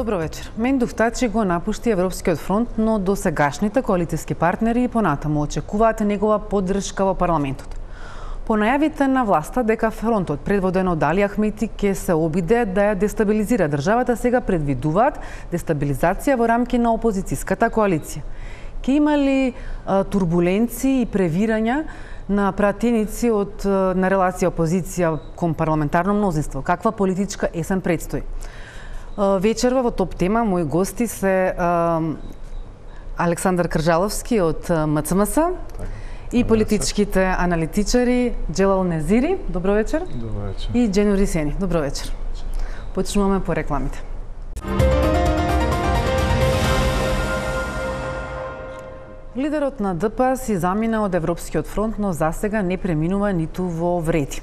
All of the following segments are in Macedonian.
Добро вечер. Мендув Тачи го напушти Европскиот фронт, но до сегашните коалицијски партнери и понатаму очекуваат негова поддршка во парламентот. По најавите на власта дека фронтот предводен од Али Ахмети ќе се обиде да ја дестабилизира државата, сега предвидуваат дестабилизација во рамки на опозицијската коалиција. Ке има ли турбуленции и превирања на пратеници на релација опозиција кон парламентарно мнозинство? Каква политичка есен предстои? Вечерва во топ тема мои гости се Александар Кржаловски од МЦМС и политичките аналитичари Джелал Незири, добро вечер. Добро вечер. И Дженю Рисени, добро вечер. Почнуваме по рекламите. Лидерот на ДП си замина од Европскиот фронт, но засега не преминува ниту во вреди.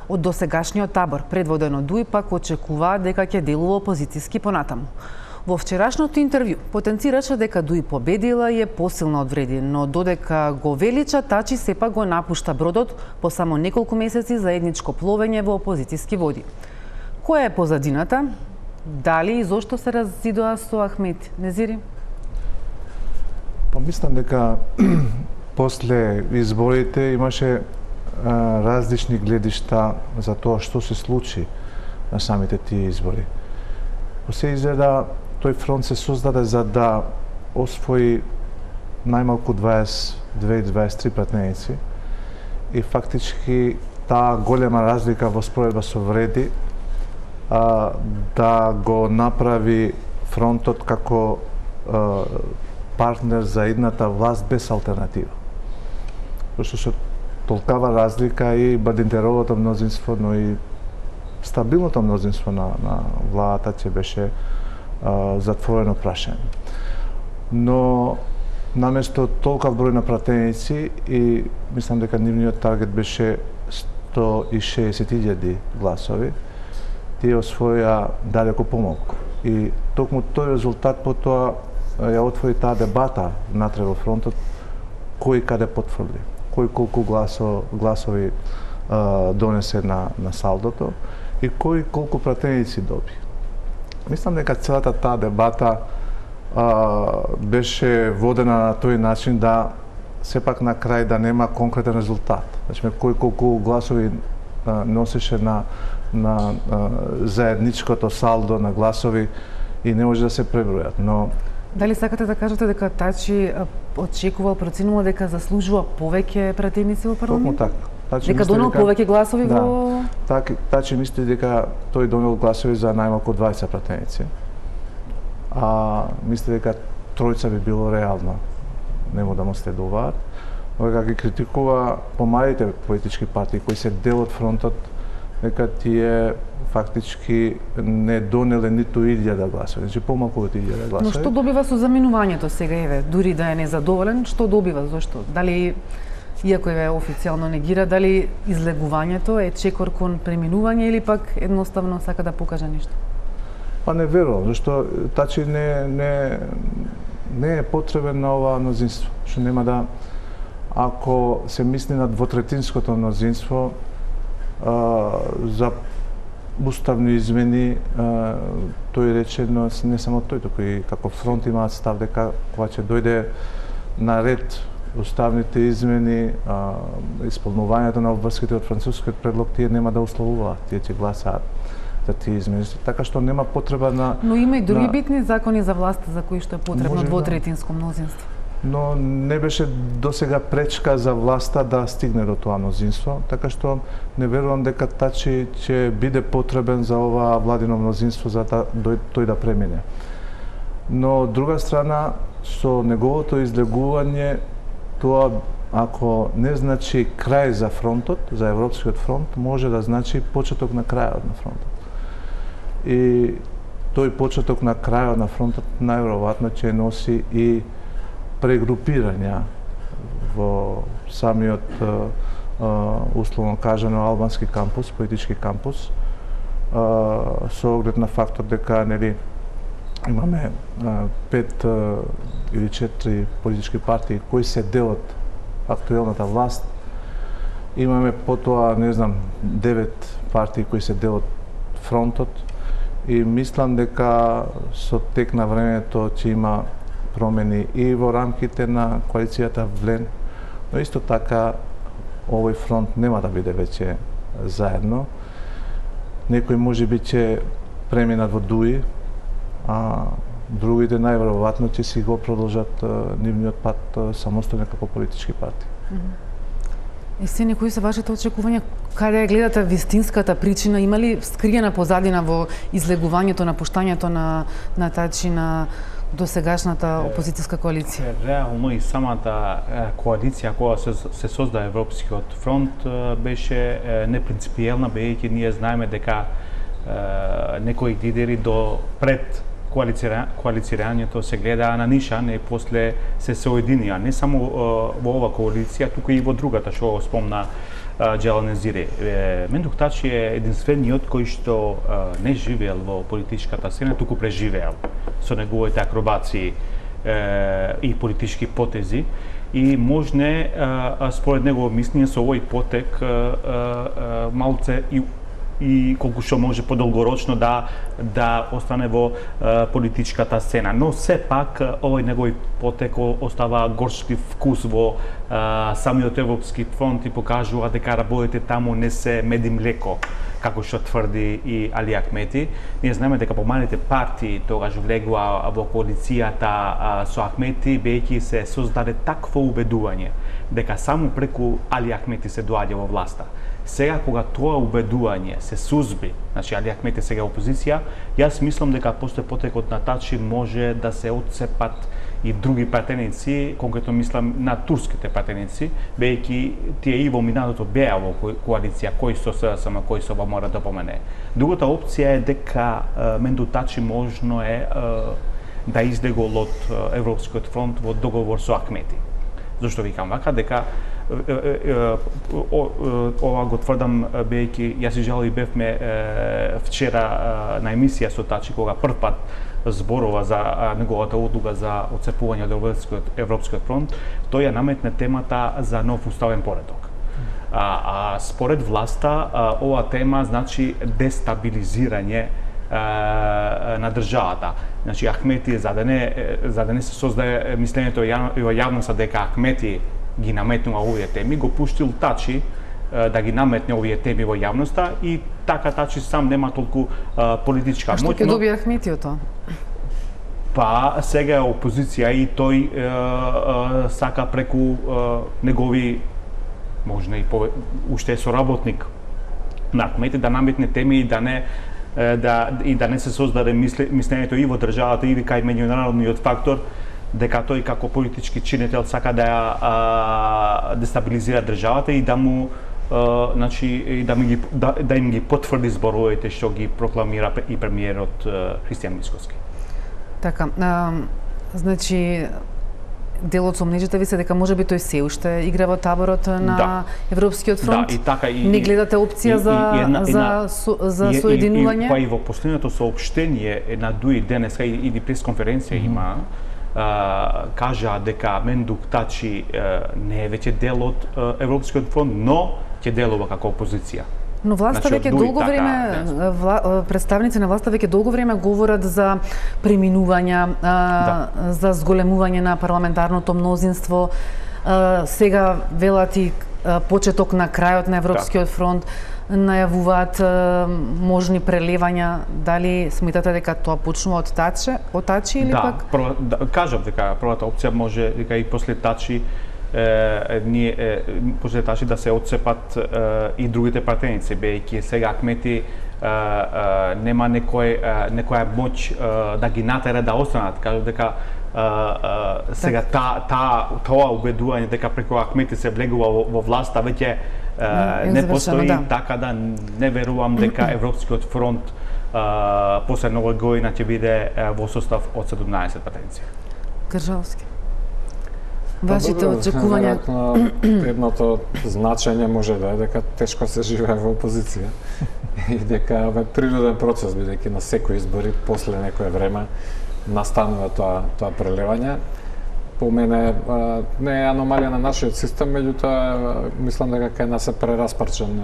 Од досегашниот табор, предводен од ДУИ, пак очекува дека ќе делува опозицијски понатаму. Во вчерашното интервју потенцираше дека ДУИ победила и е посилна од вреди, но додека го велича, Тачи сепак го напушта бродот по само неколку месеци заедничко пловење во опозицијски води. Која е позадината? Дали и зошто се разидоа со Ахмети? Незири? Мислам дека после изборите имаше различни гледишта за тоа што се случи на самите тие избори. Се изгледа тој фронт се создаде за да освои најмалку 22-23 пратеници и фактички таа голема разлика во споредба со вреди да го направи фронтот како партнер за едната власт без алтернатива. Пошто со толкава разлика и Бадинтеровото мнозинство, но и стабилното мнозинство на владата ќе беше затворено прашање. Но наместо толкав број на пратеници и мислам дека нивниот таргет беше 160.000 гласови, тие освоја далеку помалку. И токму тој резултат потоа ја отвори таа дебата внатре во фронтот, кој каде потврди, кој колку гласови донесе на салдото и кој колку пратеници доби. Мислам дека целата таа дебата беше водена на тој начин да сепак на крај да нема конкретен резултат. Значи кој колку гласови носеше на заедничкото салдо на гласови и не може да се пребројат, но дали сакате да кажете дека Тачи очекувал, проценувал дека заслужува повеќе пратеници во парламент? Токму така. Дека донел повеќе гласови во... Тачи мисли дека тој донел гласови за најмалку 20 пратеници. Мисли дека тројца би било реално. Нему да му следуваат. Но дека ги критикува помалите политички партии кои се дел од фронтот, дека тие фактички не донеле ниту 1000 гласови, значи помалку од 1000 гласови. Но што добива со заминувањето сега, еве, дури да е незадоволен, што добива, зошто? Дали, иако е официјално негира, дали излегувањето е чекор кон преминување или пак едноставно сака да покаже нешто? Не верувам, зашто Тачи не е потребен на ова мнозинство, што нема да, ако се мисли на двотретинското мнозинство, за уставни измени, тој рече, но не само тој, туку и како фронт имаат став дека кога ќе дојде на ред уставните измени, исполнувањето на обврските од францускиот предлог, тие нема да условуваат, тие ќе гласаат за тие измени. Така што нема потреба на... Но има и други битни закони за власта за кои што е потребно двотретинско мнозинство. Но не беше досега пречка за власта да стигне до тоа мнозинство, така што не верувам дека Тачи ќе биде потребен за ова владино мнозинство за тој да премине. Но од друга страна, со неговото излегување, тоа ако не значи крај за фронтот, за Европскиот фронт, може да значи почеток на крајот на фронтот. И тој почеток на крајот на фронтот најверојатно ќе носи и прегрупирања во самиот условно кажано албански кампус, политички кампус, со оглед на фактор дека имаме 5 или 4 политички партии кои се дел од актуелната власт. Имаме потоа, 9 партии кои се дел од фронтот и мислам дека со тек на времето ќе има промени и во рамките на коалицијата ВЛЕН, но исто така овој фронт нема да биде веќе заедно. Некои можеби ќе преминат во ДУИ, а другите најверојатно ќе си го продолжат нивниот пат самостојно како политички партии. Есени, кои се вашите очекувања? Каде гледате вистинската причина? Има ли скриена позадина во излегувањето, напуштањето на Тачи на досегашната опозицијска коалиција? Реално и самата коалиција која се созда Европскиот фронт беше непринципиелна, бидејќи ние знаеме дека некои лидери до пред коалицирањето се гледаа на нишан и после се соединија, не само во ова коалиција, туку и во другата, што го спомна Джелан Езири. Мендук Тачи е единствениот кој што не живеел во политичката сцена, туку преживеел со неговите акробации и политички потези, и можне, според негово мислење, со овој потек малце и колку што може подолгорочно да остане во политичката сцена. Но сепак овој негови потек остава горчив вкус во самиот Европски фронт и покажува дека работите таму не се мед и млеко, како што тврди и Али Ахмети. Ние знаеме дека помалите партии тогаш влегува во коалицијата со Ахмети, бидејќи се создаде такво убедување дека само преку Али Ахмети се доаѓа во власта. Сега, кога тоа убедување се сузби, значи Али Ахмети сега опозиција, јас мислам дека после потекот на Тачи може да се отцепат и други пратеници, конкретно мислам на турските пратеници, бидејќи тие и во минатото беа во коалиција, кој со СДСМ, кој со ВМРО да помене. Другата опција е дека Менду Тачи можно е да излегол од Европскиот фронт во договор со Ахмети. Зошто викам вака? Дека ова го тврдам бидејќи јас и Жали бевме вчера на емисија со Тачи, кога прв пат зборува за неговата одлука за отцепување од Европскиот фронт, тој ја наметне темата за нов уставен поредок. Според власта, ова тема значи дестабилизирање на државата. Значи Ахмети, за да не се создае мислењето во јавноста дека Ахмети ги наметнува овие теми, го пуштил Тачи да ги наметне овие теми во јавноста и така Тачи сам нема толку политичка моќ. А што ќе добие Ахмети од тоа? Па сега е опозиција и тој сака преку негови, можна и уште е соработник на Ахмети, да наметне теми и да не се создаде мислењето и во државата и кај меѓународниот фактор дека тој како политички чинител сака да ја дестабилизира државата и да му значи да им ги потврди зборовите што ги прокламира и премиерот Христијан Мицкоски. Така, значи делот со мнежите ви се дека можеби тој се уште игра во таборот на Европскиот фронт. Да, и така и не гледате опција за соединување? Па и во последното соопштение на ДУИ денеска или пресконференција има кажа дека Мендук Тачи не е веќе дел од Европскиот фронт, но ќе делува како опозиција. Но власта веќе долго време, представници на власта веќе долго време говорат за преминувања, за зголемување на парламентарното мнозинство. Сега велат и почеток на крајот на Европскиот фронт, најавуваат можни прелевања. Дали сметате дека тоа почнува од Тачи или пак? Да, кажав дека првата опција може дека и после Тачи после Тачи да се отцепат и другите пратеници, бидејќи сега Ахмети нема некоја моќ да ги натера да останат. Кажав дека сега тоа убедување дека преку Ахмети се влегува во власта веќе не постои, така да не верувам дека Европскиот фронт после нова година ќе биде во состав од 17 пратеници. Гржалски. Вашите очекувања? Едното значење може да е дека тешко се живее во опозиција и дека е природен процес, бидејќи на секои избори после некое време настанува тоа прелевање. по мене не е аномалија на нашиот систем, меѓутоа мислам дека кај нас е прераспарчен,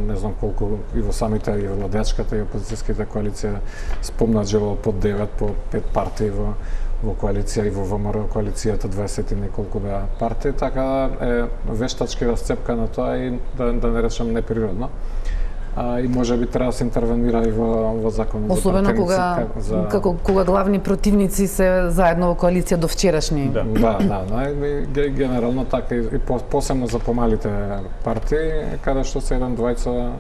не знам колку и во самите и владеачката и опозицијските коалиција спомнат живо под 9 по 5 партии во коалиција и во ВМРО коалицијата 20 и неколку беа партии, така е вештачки расцепкано тоа и да не речем неприродно. И може би треба да се интервенира и во законот. Особено кога главни противници се заедно во коалиција до вчерашни. Да, генерално така и посебно за помалите партии, каде што се еден-двајца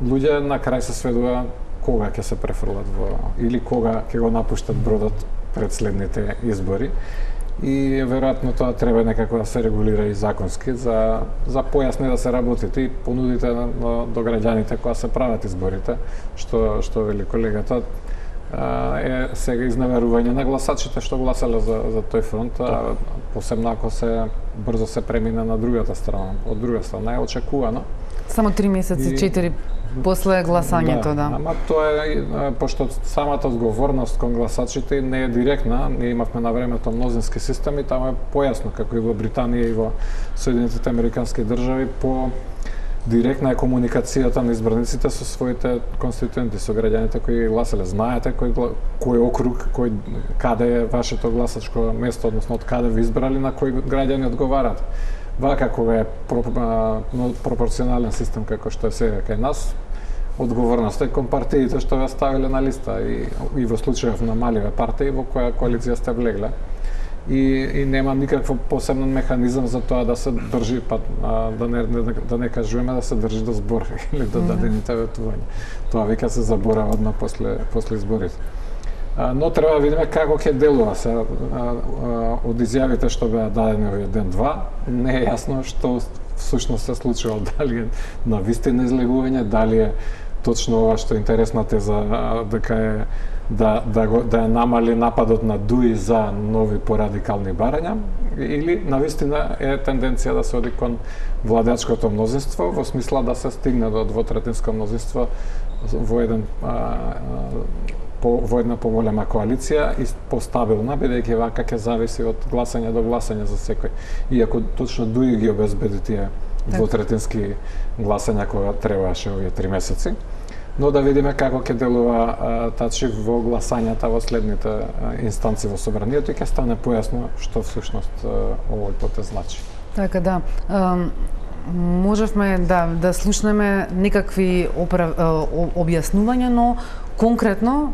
луѓе на крај се сведува кога ќе се префрлат или кога ќе го напуштат бродот пред следните избори. И веројатно тоа треба некако да се регулира и законски за појасни да се работите и понудите до граѓаните кога се прават изборите, што вели колегата, е сега изневерување на гласачите што гласале за тој фронт, посебно ако брзо се премине на другата страна. Од друга страна е очекувано. Само 3 месеци, 4 после гласањето, да. Ама тоа е, пошто самата одговорност кон гласачите не е директна, ние имавме на времето мнозински системи, таму е појасно, како и во Британија и во Соединетите Американски држави, по директна е комуникацијата на избраниците со своите конституенти, со граѓаните кои гласале. Знаете кој округ, каде е вашето гласачко место, односно од каде ви избрали, на кои граѓани одговарат. Вака кога е пропорционален систем како што е сега кај нас, одговорноста е кон партиите што ве ставиле на листа и во случајов на маливе партии во која коалиција сте влегле. И нема никакво посебен механизам за тоа да се држи, да не кажуваме да се држи до збор или до дадените ветувања. Тоа веќе се заборава одма после изборите. Но треба да видиме како ќе делува се од изјавите што беа дадени овој ден-два. Не е јасно што всушност се случува, дали е на вистина излегување, дали е точно ова што е интересна теза, дека е да е намали нападот на ДУИ за нови порадикални барања, или навистина е тенденција да се оди кон владеачкото мнозинство, во смисла да се стигне до двотретинско мнозинство во една поголема коалиција и постабилна, бидејќи вака ќе зависи од гласање до гласање за секој. Иако точно ДУИ ги обезбеди тие двотретински гласања кога требаше овие 3 месеци. Но да видиме како ќе делува тачи во гласањата во следните инстанци во собранието и ќе стане појасно што всушност овој потез значи. Така да, можевме да слушнеме некакви објаснувања, но конкретно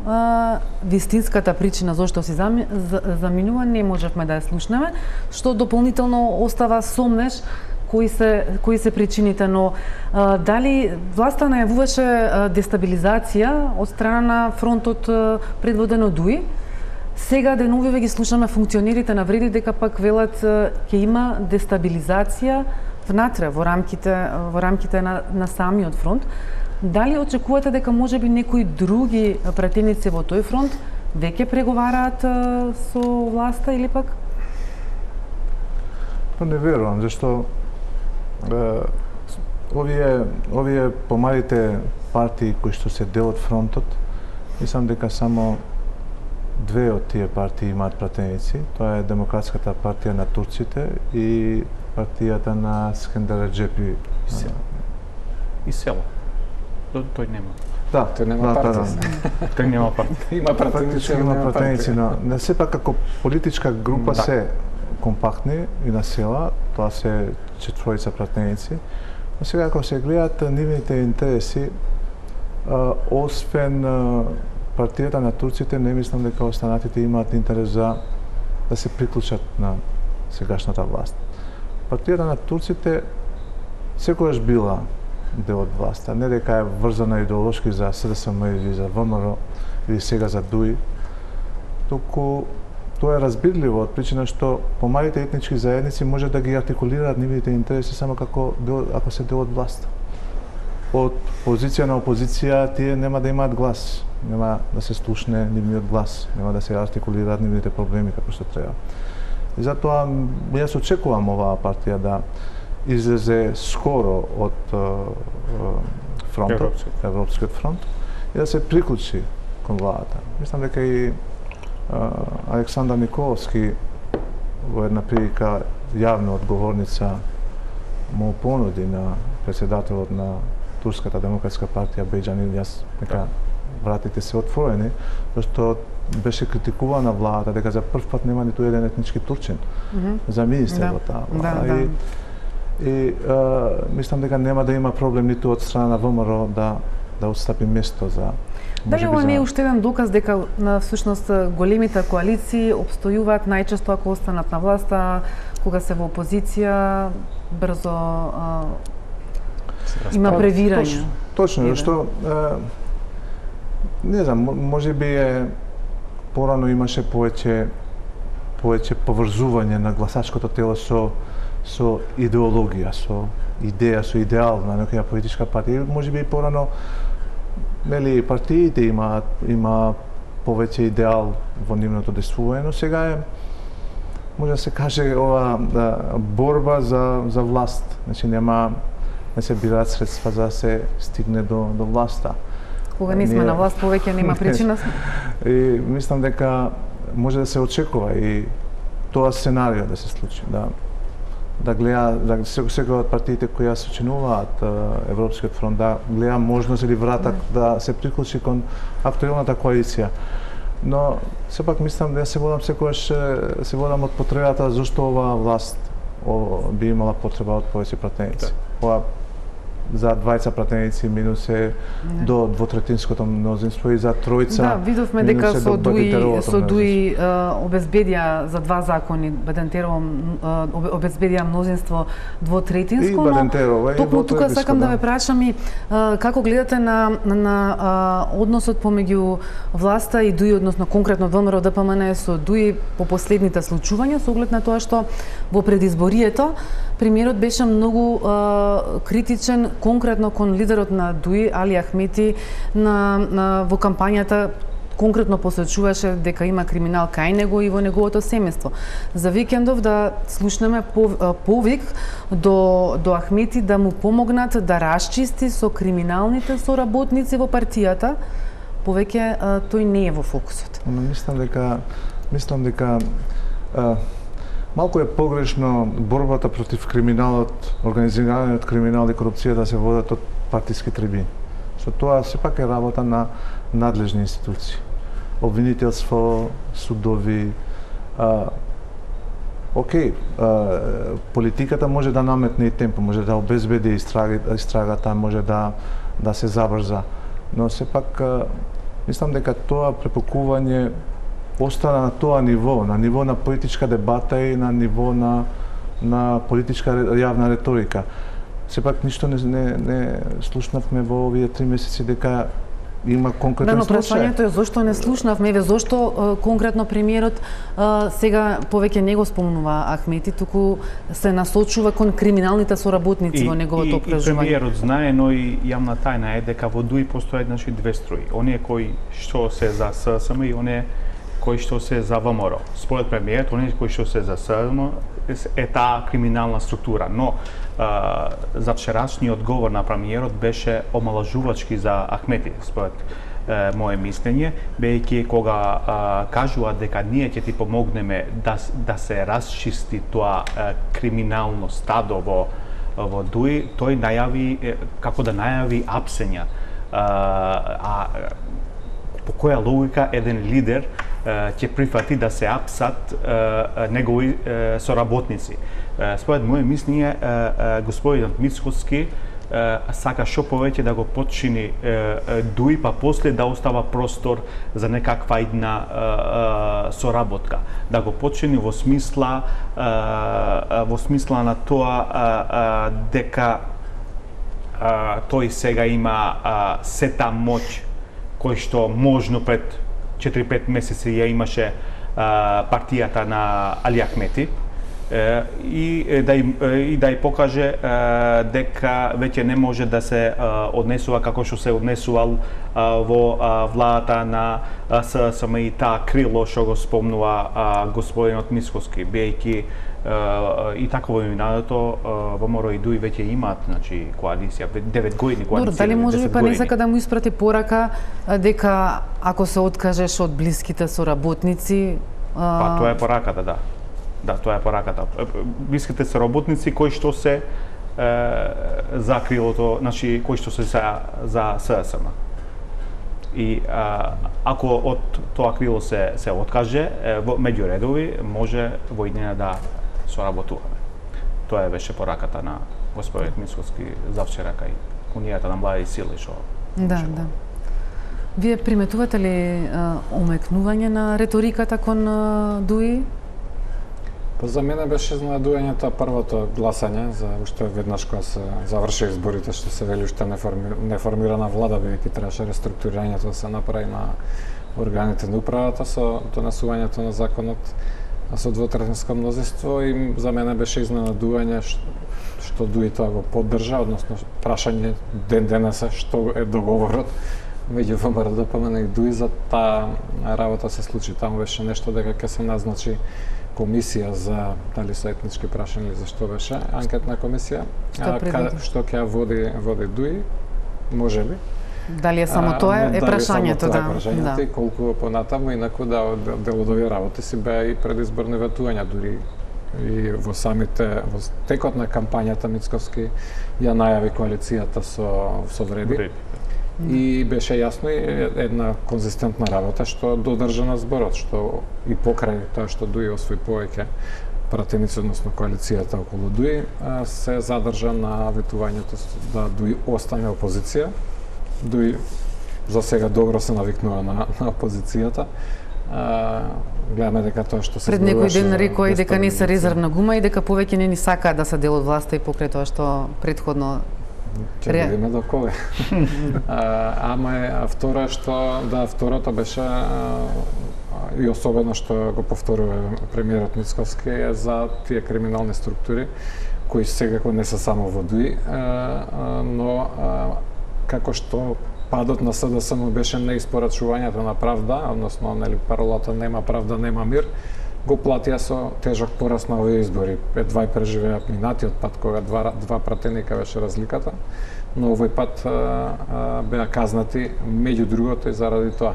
вистинската причина зошто се заминува не можевме да ја слушнеме, што дополнително остава сомнеш кои се причините, но дали власта најавуваше дестабилизација од страна на фронтот предводен од ДУИ, сега деновиве ги слушаме функционерите на Вреди дека пак велат ќе има дестабилизација внатре во рамките на самиот фронт. Дали очекувате дека можеби некои други пратеници во тој фронт веќе преговараат со власта или пак? Не верувам, зашто овие помалите партии кои што се дел од фронтот, мислам дека само 2 од тие партии имаат пратеници. Тоа е Демократската партија на турците и партијата на Скендер Реджепи. И село. Тој нема. Да, тој нема партија. Тој нема партија. Има пратеници, има пратеници, но не сепак како политичка група се компактни и на села, тоа се 4 пратеници. Но сега ако се гледат нивните интереси, освен партијата на турците, не мислам дека останатите имаат интерес да се приклучат на сегашната власт. Партијата на турците секогаш била дел од власта, не дека е врзана идеолошки за СДСМ или за ВМРО или сега за ДУИ, туку тоа е разбирливо од причина што помалите етнички заедници може да ги артикулираат нивните интереси само ако се дел од власта. Од позиција на опозиција тие нема да имаат глас, нема да се слушне нивниот глас, нема да се артикулираат нивните проблеми како што треба. И затоа јас очекувам оваа партија да излезе скоро од фронтот, Европскиот фронт, и да се приклучи кон владата. Мислам дека и Александар Николовски во една прилика јавна одговорница му понуди на председателот на Турската демократска партија Бејџан Илјас дека вратите се отворени, зашто беше критикувана влада дека за прв пат нема ниту еден етнички турчин за министер во таа влада. И мислам дека нема да има проблем ниту од страна на ВМРО да отстапи место за Дали ова не е уште еден доказ дека на всушност големите коалиции обстојуваат најчесто ако останат на власта, кога се во опозиција брзо има превирање? Точно, што не знам, можеби порано имаше повеќе поврзување на гласачкото тело со идеологија, со идеја, со идеал на некоја политичка партија. Можеби и порано нели партиите има повеќе идеал во нивното действување, но сега може да се каже ова борба за власт. Значи не се бираат средства за да се стигне до власта. Кога не сме на власт, повеќе нема причина. И мислам дека може да се очекува и тоа сценарио да се случи, да гледа секој од партиите кои ја сочинуваат Европскиот фронт да гледа можност или вратак да се приклучи кон актуелната коалиција. Но сепак мислам да се водам од потребата зашто оваа власт би имала потреба од повеќе пратеници. За двајца пратеници минус до двотретинското мнозинство и за тројца. Да, видовме дека со Дуи обезбедија за два закони, Бадентерово обезбедија мнозинство двотретинско, но токму тука сакам да ве прашам и како гледате на односот помеѓу власта и Дуи, односно конкретно ВМРО ДПМН со Дуи по последните случувања, со оглед на тоа што во предизборието премиерот беше многу критичен конкретно кон лидерот на Дуи, Али Ахмети, во кампањата конкретно посочуваше дека има криминал кај него и во неговото семејство. За викендов да слушнеме повик до Ахмети да му помогнат да расчисти со криминалните соработници во партијата, повеќе тој не е во фокусот. Мислам дека малку е погрешно борбата против криминалот, организираниот криминал и корупција да се водат од партиски трибини. Со тоа сепак е работа на надлежни институции. Обвинителство, судови, политиката може да наметне и темпо, може да обезбеди истрагата, може да се забрза, но сепак мислам дека тоа препокување остана на тоа ниво, на ниво на политичка дебата и на ниво на политичка јавна реторика. Сепак ништо не слушнавме во овие 3 месеци дека има конкретен случај. Прашањето е зошто не слушнавме, зошто конкретно премиерот сега повеќе не го спомнува Ахмети, туку се насочува кон криминалните соработници во неговото опражување. И премиерот знае, но и јавна тајна е дека во Дуи постојат две струи. Оние кои што се за ССМ и оние кои што се за ВМРО. Според премиерот, оние кои што се за ССМ е таа криминална структура, но за вчерашниот говор на премиерот беше омалажувачки за Ахмети, според мое мислење, бејќи кога кажува дека ние ќе ти помогнеме да се расчисти тоа криминално стадо во Дуи, тој најави како да најави апсења. По која логика еден лидер ќе прифати да се апсат негови соработници. Според моје мислење, господинот Мицкоски сака што повеќе да го подчини Дуи, па после да остава простор за некаква една соработка. Да го подчини во смисла на тоа дека тој сега има сета моќ кој што можно пред 4-5 месеци ја имаше партијата на Али Ахмети и да ја покаже дека веќе не може да се однесува како што се однесувал во владата на ССМ и таа крило што го спомнува господинот Мицкоски, бејќи и така во минатото ВМРО и Дуи веќе имаат, значи, коалиција, 9 години коалиција. Добро, дали може би па не сака да му испрати порака дека ако се откажеш од блиските соработници, па тоа е пораката, да. Да, тоа е пораката. Блиските се работници кои што се за крилото, значи кои што се за ССМ. И ако од тоа крило се откаже, меѓу редови може во иднина да соработуваме. Тоа беше пораката на господин Мицкоски завчера кај Унијата на млади сили што. Да. Вие приметувате ли омекнување на реториката кон ДУИ? Па за мене беше изненадувањето првото гласање за уште веднаш кога се заврши изборите, што се вели уште неформирана влада, бидејќи требаше реструктурирањето да се направи на органите на управата со донесувањето на законот со двотретинско мнозинство, и за мене беше изненадување што ДУИ тоа го поддржа, односно прашање ден денеса што е договорот меѓу ВМРО ДПМН и ДУИ за таа работа се случи. Таму беше нешто дека ќе се назначи комисија за дали со етнички прашања или за што беше, анкетна комисија, што ќе води ДУИ, можеби. Дали е само тоа е прашањето, да. И колку понатаму, инаку да дел од овие работи си беа и предизборни ветувања, дури и во текот на кампањата Мицкоски ја најави коалицијата со Вреди. И беше јасно и една конзистентна работа што додржа на зборот, што и покрај тоа што ДУИ освои повеќе пратеници, односно коалицијата околу ДУИ, се задржа на ветувањето да ДУИ остане опозиција. ДУИ за сега добро се навикнува на опозицијата. Гледаме дека тоа што се пред некој ден рекоа дека не се резервна гума и дека повеќе не ни сакаат да се дел од власта и покрај тоа што претходно ќе видиме до кога. Ама второто беше и особено што го повторува премиерот Мицкоски е за тие криминални структури кои секако не се само во ДУИ, но како што падот на СДСМ беше неиспорачувањето на правда, односно паролата нема правда, нема мир, го платија со тежок пораз на овие избори. Едва и преживеа минатиот пат кога два пратеника беше разликата, но овој пат беа казнати меѓу другото и заради тоа.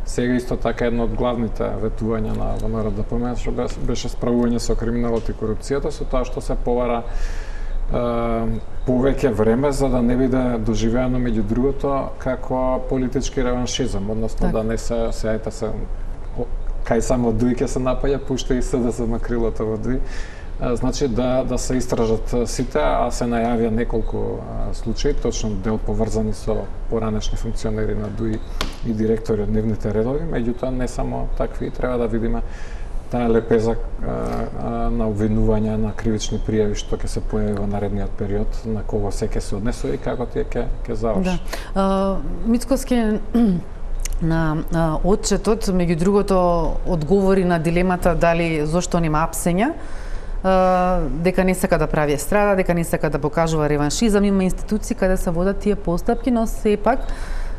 Сега исто така едно од главните ветувања на ВМРО ДПМН што беше справување со криминалот и корупцијата, со тоа што се повара повеќе време за да не биде доживеано меѓу другото како политички реваншизам, односно да не се кај само ДУИ ќе се напаѓа, пушта и СДСМ крилото во ДУИ. Значи да се истражат сите, а се најавија неколку случаи, точно дел поврзани со поранешни функционери на ДУИ и директори од нивните редови, меѓутоа не само такви, треба да видиме таа лепеза на обвинувања, на кривични пријави што ќе се појави во наредниот период, на кого се ќе се однесува и како тие ќе заврши. Да. Мицкоски на отчетот, меѓу другото, одговори на дилемата дали зошто нема апсења, дека не сака да прави естрада, дека не сака да покажува реваншизам, има институции каде се водат тие постапки, но сепак,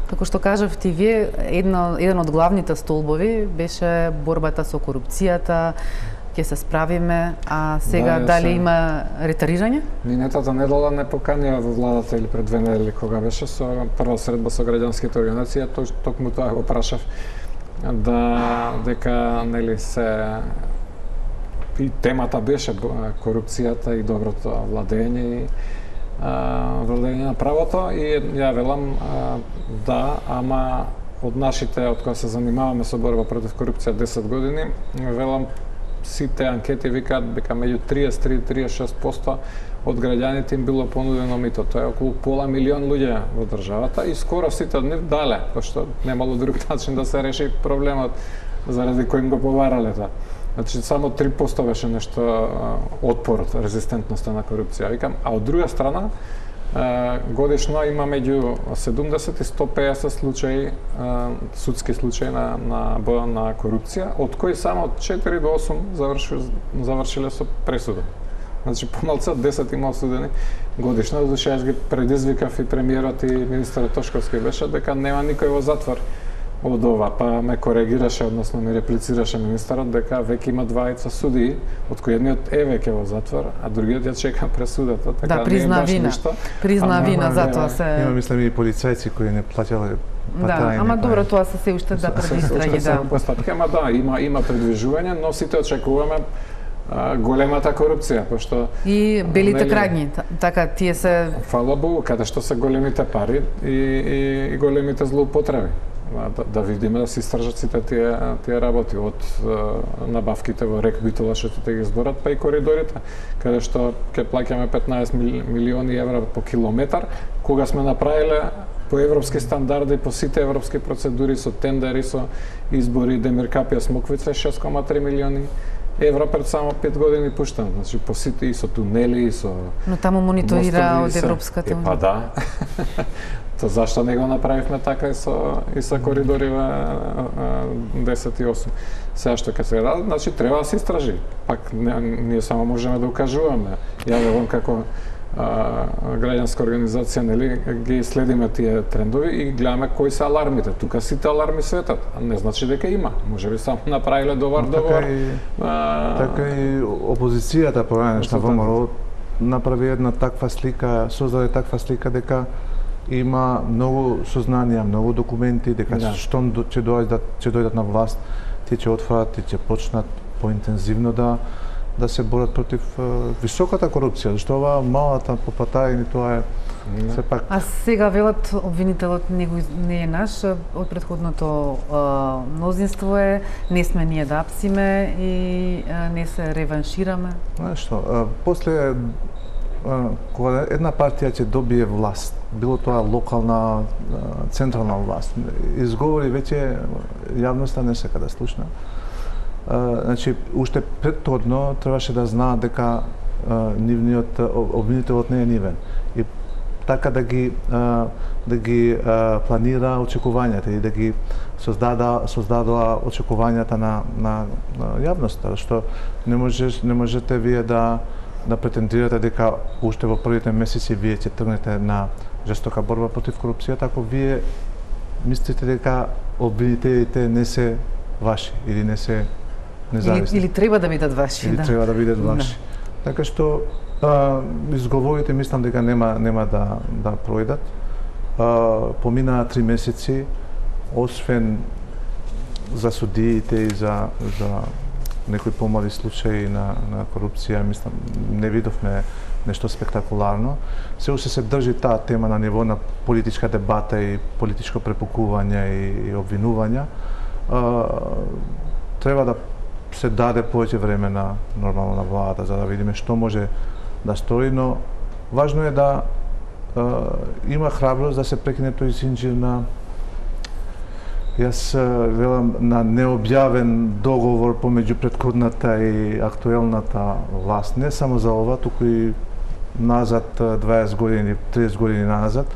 како што кажавте вие, еден од главните столбови беше борбата со корупцијата, ќе се справиме, а сега дали има ретарирање? Минатата недела не поканија во владата или пред 2 недели кога беше со прва средба со граѓанските организации, токму тоа го прашав дека нели се и темата беше корупцијата и доброто владење и владење на правото, и ја велам да, ама од нашите, од кои се занимаваме со борба против корупција 10 години, велам сите анкети викаат дека меѓу 33-36% од граѓаните им било понудено мито. Тоа е околу пола милион луѓе во државата и скоро сите од нив дале, пошто немало друг начин да се реши проблемот заради кој им го поварале тоа. Значи само 3% беше нешто отпорот, резистентноста на корупција. Викам, а од друга страна годишно има меѓу 70 и 150 случаи, судски случаи на корупција, од кои само 4 до 8 завршиле со пресуда. Значи помалку од 10 има осудени годишно, зашто јас ги предизвикав и премиерот и министерот Тошковски беше дека нема никој во затвор од ова, па ме коригираше, односно ми реплицираше министерот дека веќе има 2 судии, од кои едниот е веќе во затвор, а другиот ја чека пресудата, така призна вина. Призна вина, затоа се има мислам и полицајци кои не плаќале Да, ама добро, тоа се уште да предистраги, да. Ама да, има предвижување, но сите очекуваме големата корупција, пошто и белите крагњи, така тие се фала Богу, каде што се големите пари и големите злоупотреби. Да видиме да се истражат сите тие работи од набавките во РЕК Битола што ќе ги зборат, па и коридорите, каде што ќе плаќаме 15 милиони евра по километар, кога сме направиле по европски стандарди, по сите европски процедури, со тендери, со избори, Демиркапија Смоквица 6,3 милиони евра пред само 5 години пуштен. Значи по сите и со тунели и со но таму мониторира од Европската унија. Па да. То зашто не го направивме така и со коридориве 10 и 8. Сега што ќе се ради, значи треба да се истражи. Пак ние само можеме да укажуваме. Ја велам како граѓанска организација, нели, ги следиме тие трендови и гледаме кои се алармите. Тука сите аларми светат, а не значи дека има. Можеби само направиле довар. Така и опозицијата по време на ВМРО направи една таква слика, создаде таква слика дека има многу сознанија, многу документи, дека штом ќе дојдат на власт, тие ќе отворат и ќе почнат поинтензивно да се борат против високата корупција, зашто ова малата по патајни тоа е сепак. А сега велат обвинителот не е наш, од претходното мнозинство е, не сме ние да апсиме и не се реваншираме. Што, после кога една партија ќе добие власт, било тоа локална, централна власт, изговори веќе јавноста не сака да слушна. Значи, уште претходно требаше да знаат дека нивниот обвинителот не е нивен. И така да ги планира очекувањата и да ги создадоа очекувањата на јавноста, што не можете вие да претендирате дека уште во првите месеци вие ќе тргнете на жестока борба против корупцијата, ако вие мислите дека обвинителите не се ваши или не се независни. Или треба да бидат ваши. Или треба да бидат ваши. Така што изговорите мислам дека нема да пројдат. Поминаа 3 месеци, освен за судиите и за некои помали случаи на корупција, мислам, не видовме нешто спектакуларно. Се уште се држи таа тема на ниво на политичка дебата и политичко препукување и обвинувања. Треба да се даде повеќе време нормално на владата за да видиме што може да стори, но важно е да има храброст да се прекине тој зинџир на јас велам на необјавен договор помеѓу претходната и актуелната власт, не само за ова, туку и назад 20 години, 30 години назад,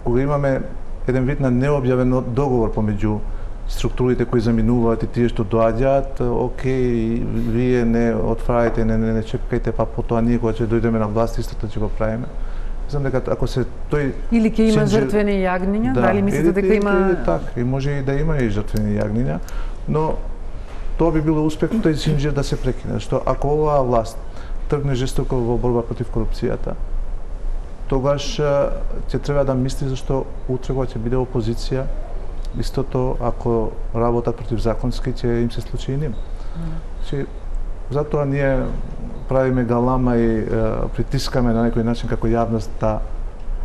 кога имаме еден вид на необјавен договор помеѓу структурите кои заминуваат и тие што доаѓаат, окей, вие не отврајте, не чекајте, па потоа ние кога ќе дојдеме на власт истото ќе го правиме. Знам дека ако се тој или ќе има жртвени јагниња, дали мислите дека има така, и може и да има и жртвени јагниња, но тоа би било успех тој зинџир да се прекине, што ако оваа власт тргне жестоко во борба против корупцијата, тогаш ќе треба да мисли зашто утре кога ќе биде опозиција, истото ако работат против законски ќе им се случи и ним. Значи, затоа ние правиме галама и притискаме на некој начин како јавност да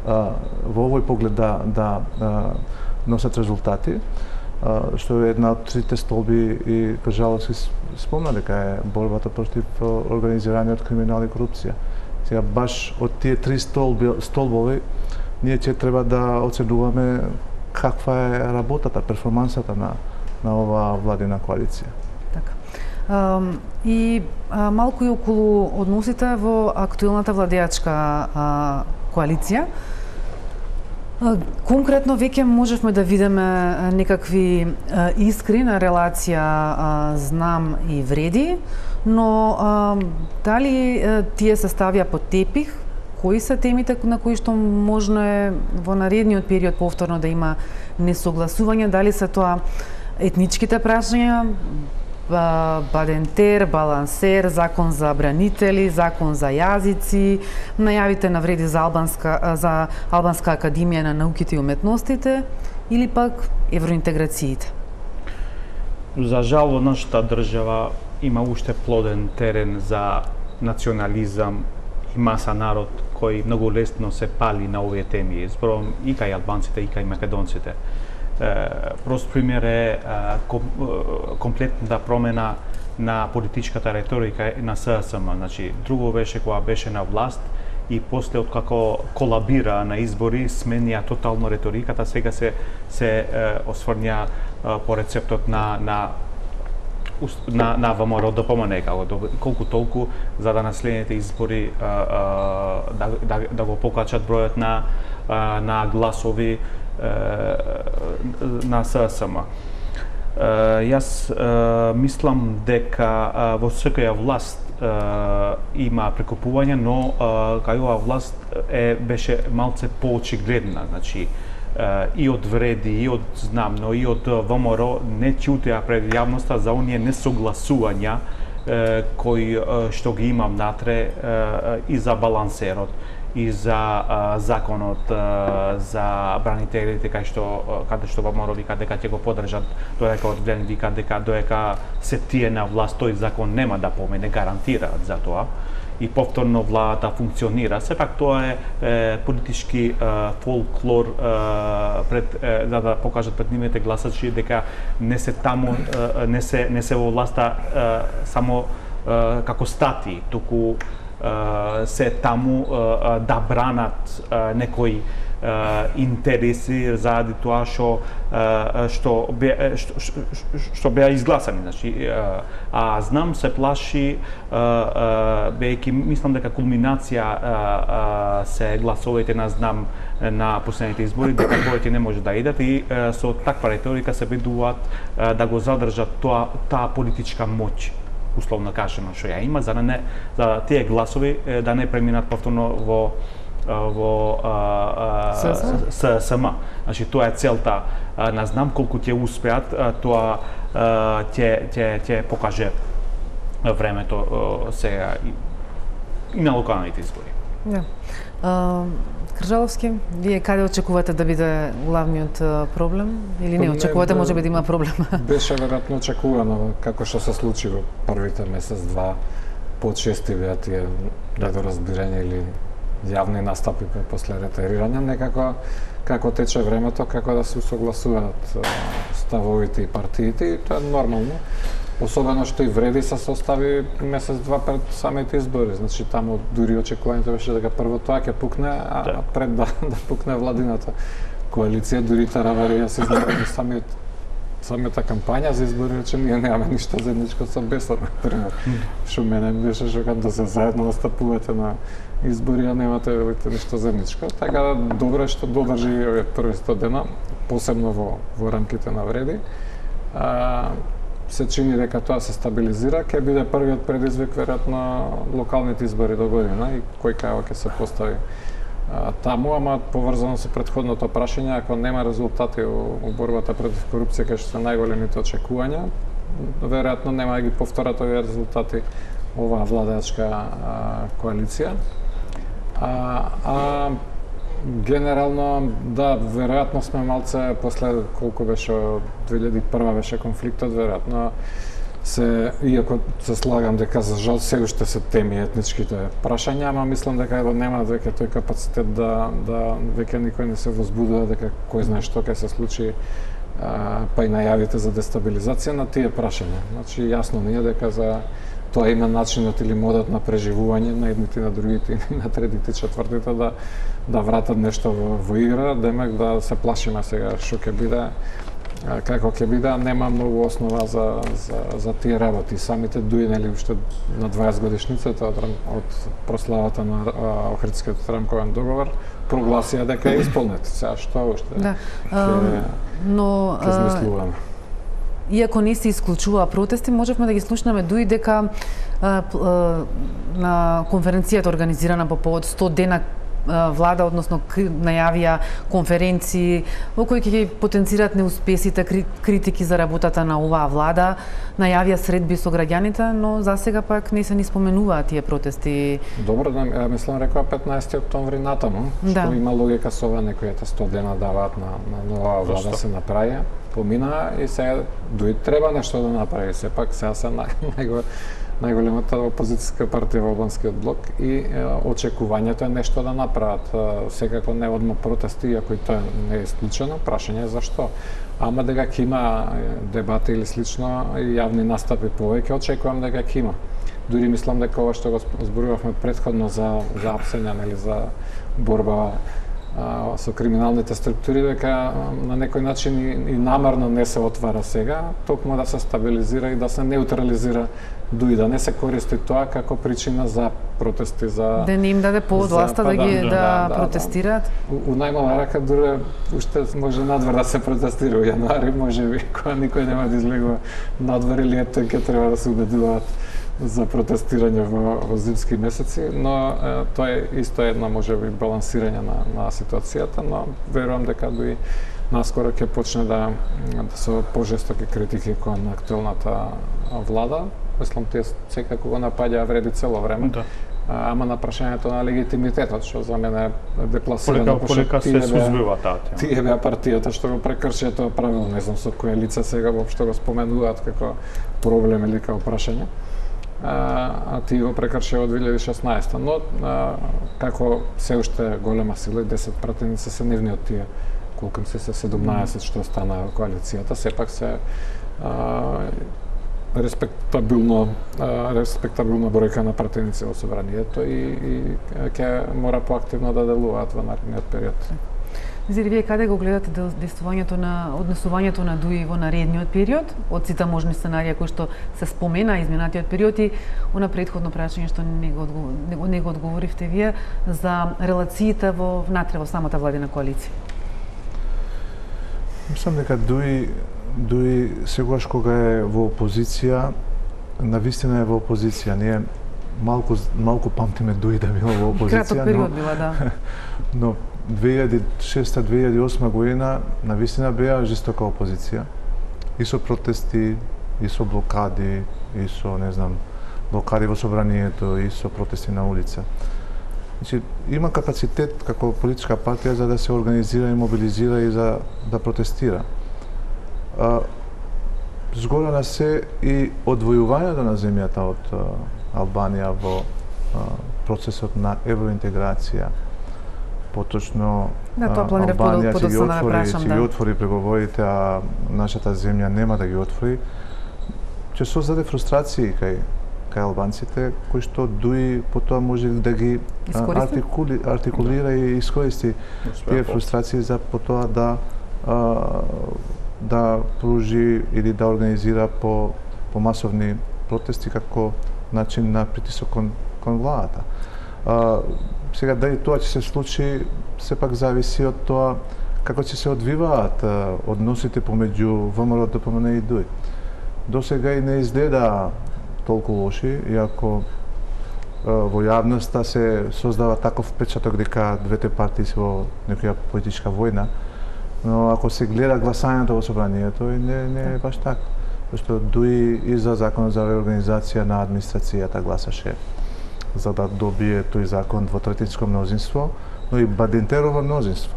во овој поглед да носат резултати, што е една од трите столби и Кажаловски спомна дека е борбата против организираниот криминал и корупција. Сега баш од тие три столбови ние ќе треба да оценуваме каква е работата, перформансата на оваа владина коалиција. Така. И малку и околу односите во актуелната владеачка коалиција. Конкретно веќе можевме да видиме некакви искри на релација знам и вреди, но дали тие се ставија под тепих? Кои се темите на кои што можно е во наредниот период повторно да има несогласување? Дали се тоа етничките прашања, Бадентер, Балансер, закон за бранители, закон за јазици, најавите на вреди за Албанска академија на науките и уметностите или пак евроинтеграциите? За жал во нашата држава има уште плоден терен за национализам и маса народ кој многу лесно се пали на овие теми. Зборувам и кај албанците, и кај македонците. Прост пример е комплетната промена на политичката реторика на ССМ. Значи, друго беше кога беше на власт и после откако колабира на избори, сменија тотално реториката, сега се осврња по рецептот на ВМРО ДПМН, колку толку за да на следните избори да го покачат бројот на гласови на ССМ. Јас мислам дека во секоја власт има прекупување, но кај оваа власт беше малце поочигледна, значи и од Вреди, и од знам, но и од ВМРО не ќутеа пред јавноста за оние несогласувања кои што ги имам натре и за балансерот, и за законот за бранителите каде што ВМРО вика дека ќе го поддржат, додека од Глен вика дека додека се тие на власт тој закон нема да помене, гарантираат за тоа и повторно владата функционира. Сепак тоа е политички фолклор за да покажат пред нивните гласачи дека не се таму, не се во власта само како стати, туку се таму да бранат некои интереси заради тоа што беа изгласани, значи знам се плаши бејќи мислам дека кулминација се гласовите на последните избори, дека повеќе не може да идат и со таква реторика се ведуваат да го задржат таа политичка моќ, условно кажано, што ја има, за тие гласови да не преминат повторно во ССМ. Значи тоа е целта. Не знам колку ќе успеат, тоа ќе покаже времето сега и на локалните избори. Да. Кржаловски, вие каде очекувате да биде главниот проблем или не очекувате, може би да има проблем? Беше веројатно очекувано како што се случи во првите месец-два, почести беа тие недоразбирања или јавни настапи после ретерирање, некако како тече времето, како да се усогласуваат ставовите и партиите, и тоа е нормално. Особено што и Вреди се состави месец-два пред самите избори, значи таму дури очекувањето беше дека прво тоа ќе пукне, а пред да пукне владината коалиција, дури Тараварија се знае самата кампања за избори, рече ние немаме ништо заедничко со Бесот, например. Што мене беше шокантно, се заедно настапувате на избори, а немате ништо заедничко. Така да добро е што додржи овие први 100 дена, посебно во рамките на Вреди. Се чини дека тоа се стабилизира, ќе биде првиот предизвик веројатно локалните избори до година и кој кај ќе се постави таму, ама поврзано со претходното прашање, ако нема резултати во борбата против корупција кај што се најголемите очекувања, веројатно нема да ги повторат овие резултати оваа владеачка коалиција. Генерално, да, веројатно сме малце после колку беше 2001 беше конфликтот, веројатно иако се слагам дека за жал се уште се теми етничките прашања, ама мислам дека нема веќе тој капацитет да веќе никој не се возбудува дека кој знае што ќе се случи, па и најавите за дестабилизација на тие прашања. Значи јасно ни е дека за тоа има начинот или модот на преживување на едните и на другите и на третите и четвртите да вратат нешто во игра, демек да се плашиме сега што ќе биде, како ќе биде, нема многу основа за тие работи. Самите дојдели уште на 20 годишницата од прославата на Охридскиот рамковен договор, прогласија дека е исполнет. Сега што уште? Да. Но иако не се исклучува протести, можевме да ги слушнеме дуи дека на конференцијата организирана по повод 100 дена влада, односно најавија конференции во кои ќе ги потенцираат неуспесите, критики за работата на оваа влада, најавија средби со граѓаните, но засега пак не се ни споменуваат тие протести. Добро, да, мислам рекоа 15 октомври натаму, што има логика со ова, некои 100 дена даваат на нова влада се направија. Помина и сега дуи треба нешто да направи, сепак сега се најголемата опозицијска партија во албанскиот блок и очекувањето е нешто да направат. Секако не одма протести, иако и тоа не е исклучено, прашање е зашто. Ама дека ќе има дебати или слично и јавни настапи повеќе, очекувам дека ќе има. Дури мислам дека ова што го зборувавме претходно за апсење или за борба со криминалните структури, дека на некој начин и намерно не се отвара сега, токму да се стабилизира и да се неутрализира, дуи да не се користи тоа како причина за протести, за да не им даде повод власта да ги протестираат. У најмала рака дури уште може надвор да се протестира во јануари, можеби кога никој нема да излегува надвор или ето ќе треба да се убедуваат за протестирање во зимски месеци, но тоа е исто една можеби балансирање на ситуацијата, но верувам дека дуи наскоро ќе почне да се пожестоки критики кон актуелната влада. Мислам, тие секако го напаѓаа вреди цело време. Да. Ама на прашањето на легитимитетот, што за мене е депласирано, колека се созвива таа тема. Тие беа партијата што го прекршија тоа правило, не знам со кое лице сега воопшто го споменуваат како проблем или како прашање. А тие го прекршија од 2016. Но како се уште голема сила и 10 пратеници се нивни од тие, колку се 17 што стана коалицијата, сепак се респектабилна бројка на пратеници во собранието и ќе мора поактивно да делуваат во наредниот период. Зири, вие каде го гледате однесувањето на ДУИ во наредниот период, од сите можни сценарија кои што се спомена изминатиот период и она претходно прашање што не го одговоривте вие за релациите внатре во самата владина коалиција? Мислам дека ДУИ сегаш кога е во опозиција, навистина е во опозиција. Ние малку памтиме ДУИ да било во опозиција. Краток период била, да. Но 2006-2008 година навистина беа жестока опозиција. И со протести, и со блокади, и со, не знам, блокади во собранието, и со протести на улица. Значи, има капацитет како политичка партија за да се организира и мобилизира и за да протестира. Згора на се и одвојувањето на земјата од Албанија во процесот на евроинтеграција. Поточно Албанија ќе ги отвори преговорите, а нашата земја нема да ги отвори. Ќе создаде фрустрации кај албанците, кои што ДУИ потоа може да ги артикулира и искористи тие фрустрации за потоа да пружи или да организира по масовни протести како начин на притисок кон владата. Сега дали тоа ќе се случи, сепак зависи од тоа како ќе се одвиваат односите помеѓу ВМРО, ДПМН и ДУИ. До сега и не изгледа толку лоши, иако во јавноста се создава таков впечаток дека двете партии се во некоја политичка војна, но ако се гледа гласањето во собранието, не е баш така. Зашто ДУИ и за законот за реорганизација на администрацијата гласаше за да добие тој закон двотретинско мнозинство, но и Бадинтерово мнозинство.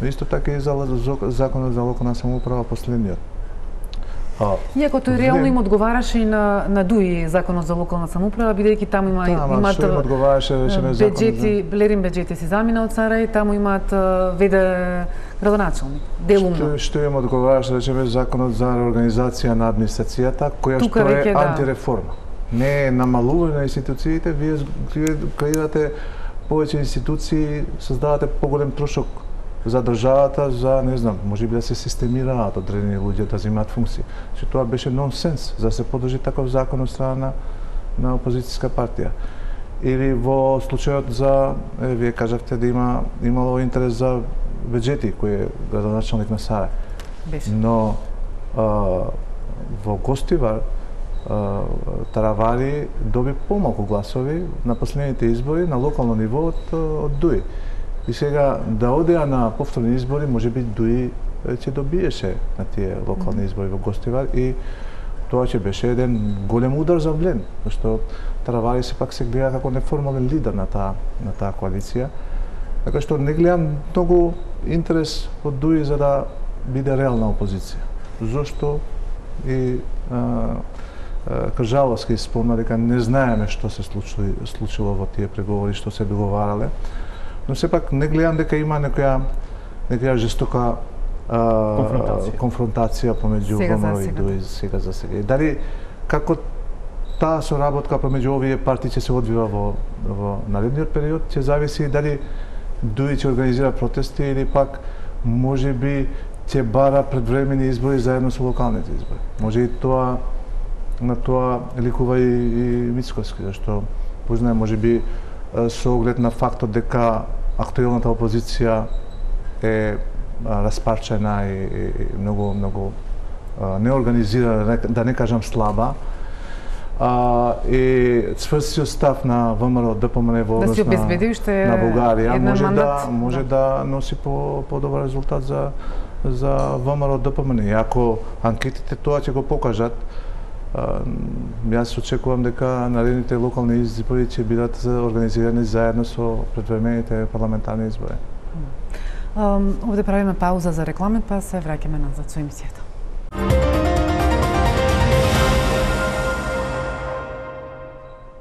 Но исто така и за законот за локална самоуправа последниот. Иако тој реално им одговараше и на ДУИ законот за локална самоуправа, бидејќи таму имаат беџети, Лерин беџети си замина од Сарај, таму имаат веде градоначалник, делумно. Што им одговараше, речеме, законот за реорганизација на администрацијата, која што е антиреформа. Не е намалување на институциите, вие креирате повеќе институции, создавате поголем трошок за државата, за, не знам, може би да се системираат одредени луѓе да земаат функции. Че тоа беше нонсенс за да се подржи таков закон од страна на опозицијска партија. Или во случајот за, вие кажавте да имало интерес за Беџети, кој е градоначалник на Сарај. Но во Гостивар Таравали доби помалку гласови на последните избори на локално ниво од ДУИ. И сега да одеа на повторни избори, можеби дуи ќе добиеше на тие локални избори во Гостивар и тоа ќе беше еден голем удар за Млен, зашто Таравали сепак се гледа како неформален лидер на таа коалиција. Така што не гледам многу интерес од дуи за да биде реална опозиција. Зошто и Кржаловски спомна дека не знаеме што се случило во тие преговори, што се договарале. Но сепак не гледам дека има некоја жестока конфронтација помеѓу ВМРО и дуи сега за сега. И дали како таа соработка помеѓу овие партии ќе се одвива во наредниот период, ќе зависи дали дуи ќе организира протести или пак можеби ќе бара предвремени избори заедно со локалните избори. Може и на тоа ликува и Мицкоски, зашто познаем можеби со оглед на фактот дека актуелната опозиција е распарчена и многу неорганизирана, да не кажам слаба, и цврстиот став на ВМРО ДПМН во однос на Бугарија може да носи подобар резултат за ВМРО ДПМН. И ако анкетите тоа ќе го покажат, јас очекувам дека наредните локални избори ќе бидат организирани заедно со предвремените парламентарни избори. Овде правиме пауза за реклами, па се враќаме назад со емисијата.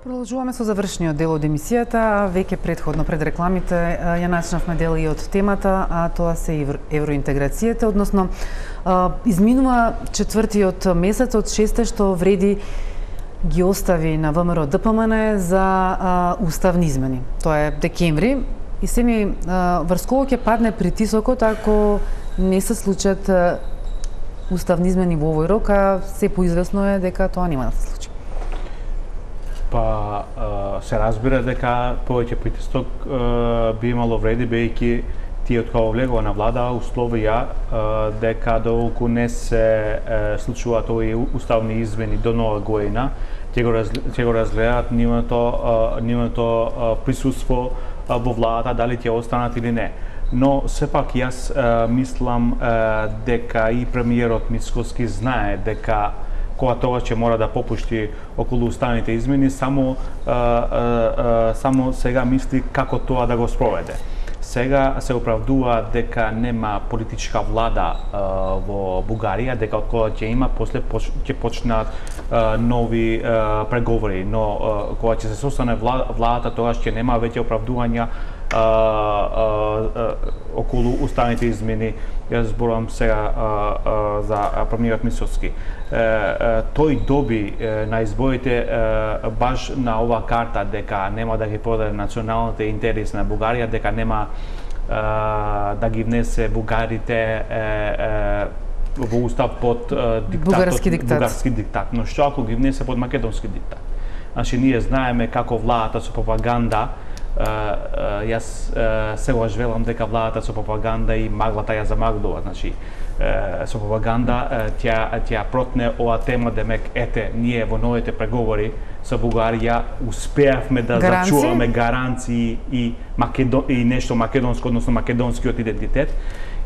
Продолжуваме со завршниот дел од емисијата. Веќе предходно пред рекламите ја начнавме дел и од темата, а тоа се евроинтеграцијата, односно изминува четвртиот месец од 6 што вреди ги остави на ВМРО ДПМН за уставни измени. Тоа е декември и семи врз кого ќе падне притисокот ако не се случат уставни измени во овој рок, а се поизвестно е дека тоа нема да се случи. Па се разбира дека повеќе притисок би имало вреди, бејќи тие од кога влегува на влада условија дека доколку не се случуваат овие уставни измени до нова година, ќе го разгледаат нивното присуство во владата, дали ќе останат или не. Но сепак јас мислам дека и премиерот Мицкоски знае дека кога тоа ќе мора да попушти околу уставните измени, само сега мисли како тоа да го спроведе. Сега се оправдува дека нема политичка влада во Бугарија, дека од кога ќе има, после ќе почнат нови преговори, но кога ќе се состане владата, тогаш ќе нема веќе оправдувања околу уставните измени. Јас зборувам сега за премиерот Мицкоски. Тој доби на изборите баш на оваа карта дека нема да ги продаде националните интереси на Бугарија, дека нема да ги внесе бугарите во устав под бугарски диктат. Но што ако ги внесе под македонски диктат? Значи, ние знаеме како владата со пропаганда, јас сегаш велам дека владата со пропаганда и маглата ја замаглува. Значи, со пропаганда тја протне оваа тема, демек, ете, ние во новите преговори со Бугарија успеавме да зачуваме гаранции и нешто македонско, односно македонскиот идентитет.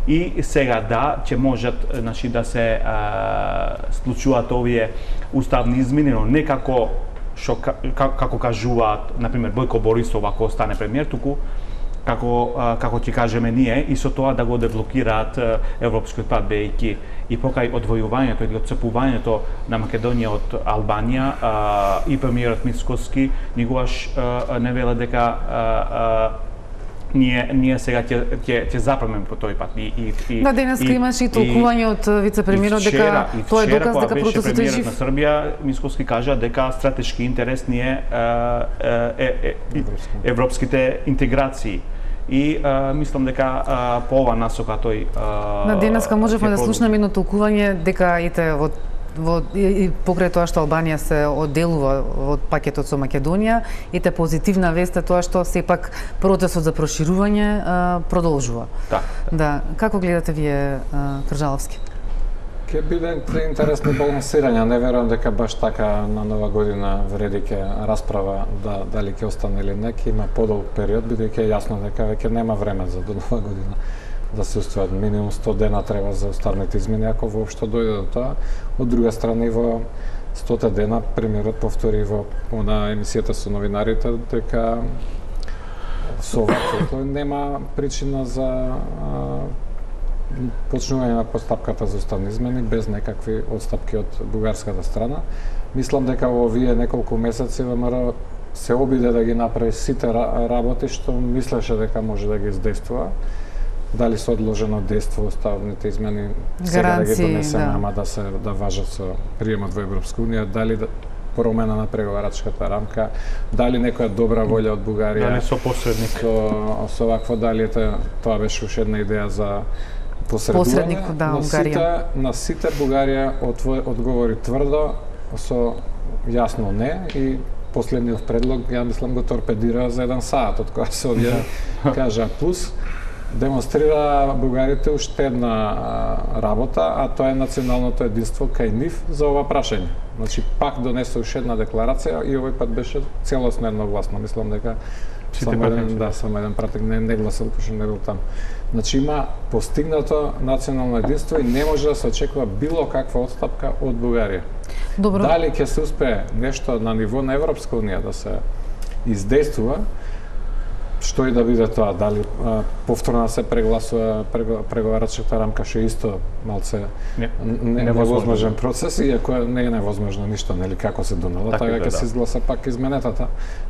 И сега да, ќе можат, значи, да се случуваат овие уставни измени, но не како кажуваат, например, Бојко Борисов ако стане премиер, туку како ќе кажеме ние, и со тоа да го деблокираат европскиот пат, бејќи и покај одвојувањето или отцепувањето на Македонија од Албанија, и премиерот Мицкоски никогаш не веле дека ние сега ќе запремеме по тој пат. Да, денеска имаше и толкување од вице-премиерот дека тоа е доказ дека процесот е жив. На Србија Мицкоски кажа дека стратешки интерес ни е европските интеграции. И мислам дека по ова насока тој на денеска можевме да слушнеме едно толкување дека и покрај тоа што Албанија се одделува од пакетот со Македонија, и позитивна вест е тоа што сепак процесот за проширување продолжува. Да. Како гледате вие, Кржаловски? Ќе биде интересно балансирање. Не верувам дека баш така на Нова година вреди ќе расправа дали ќе остане или не, ќе има подолг период, бидејќи е јасно дека веќе нема време за до Нова година да се устваат. Минимум 100 дена треба за уставните измени, ако воопшто дојде до тоа. Од друга страна, во 100 дена премиерот повтори во емисијата со новинарите дека со овакво нема причина за почнување на постапката за уставни измени без некакви отстапки од бугарската страна. Мислам дека во овие неколку месеци ВМРО се обиде да ги направи сите работи што мислеше дека може да ги издействува. Дали со одложено дејство уставните измени сега да ги донесеме, ама да важат со приемот во Европска унија, дали промена на преговарачката рамка, дали некоја добра волја од Бугарија, дали со посредник, со вакво дали тоа беше уште една идеја за посредување. На сите Бугарија одговори тврдо со јасно не и последниот предлог, ја мислам, го торпедира за 1 саат, од која се објави, кажа плюс, демонстрира бугарите уште една работа, а тоа е националното единство кај нив за ова прашање. Значи, пак донесе уште една декларација и овој пат беше целосно едногласно. Мислам дека само еден пратник не гласал, пошто не бил таму. Значи, има постигнато национално единство и не може да се очекува било каква отстапка од Бугарија. Добро. Дали ќе се успее нешто на ниво на Европска унија да се издействува, што и да биде тоа, дали повторно се прегласува преговарачката рамка, што е исто малце невозможен процес, иако не е невозможно ништо, нели, како се донела, така ќе се изгласа пак изменетата,